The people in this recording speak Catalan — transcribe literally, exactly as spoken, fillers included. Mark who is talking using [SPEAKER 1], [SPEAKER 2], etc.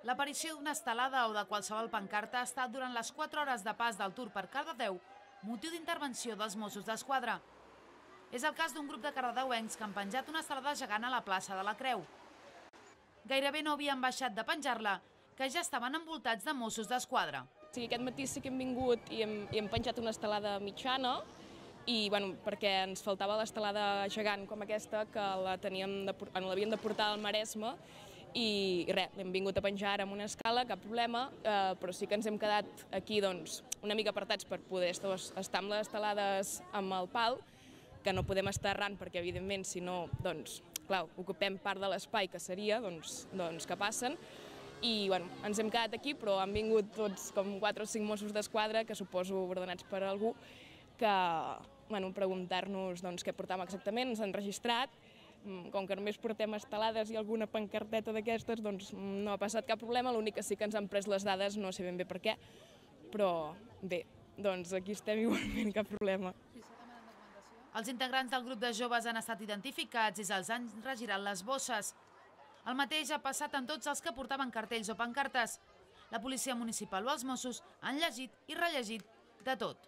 [SPEAKER 1] L'aparició d'una estelada o de qualsevol pancarta ha estat durant les quatre hores de pas del Tour per Cardedeu motiu d'intervenció dels Mossos d'Esquadra. És el cas d'un grup de cardedeuencs que han penjat una estelada gegant a la plaça de la Creu. Gairebé no havien baixat de penjar-la, que ja estaven envoltats de Mossos d'Esquadra.
[SPEAKER 2] Sí, aquest matí sí que hem vingut i hem, i hem penjat una estelada mitjana, i bueno, perquè ens faltava l'estelada gegant com aquesta, que la teníem de, l'havien de portar al Maresme, i, i res, l'hem vingut a penjar ara amb una escala, cap problema, eh, però sí que ens hem quedat aquí doncs, una mica apartats per poder estar amb les estelades amb el pal, que no podem estar arran perquè evidentment si no, doncs, clar, ocupem part de l'espai que seria, doncs, doncs que passen, i bueno, ens hem quedat aquí, però han vingut tots com quatre o cinc Mossos d'Esquadra, que suposo ordenats per algú, que bueno, preguntar-nos doncs, què portàvem exactament, ens han registrat, com que només portem estelades i alguna pancarteta d'aquestes, doncs no ha passat cap problema, l'únic que sí que ens han pres les dades, no sé ben bé per què, però bé, doncs aquí estem igualment, cap problema.
[SPEAKER 1] Els integrants del grup de joves han estat identificats i se'ls han regirat les bosses. El mateix ha passat amb tots els que portaven cartells o pancartes. La policia municipal o els Mossos han llegit i rellegit de tot.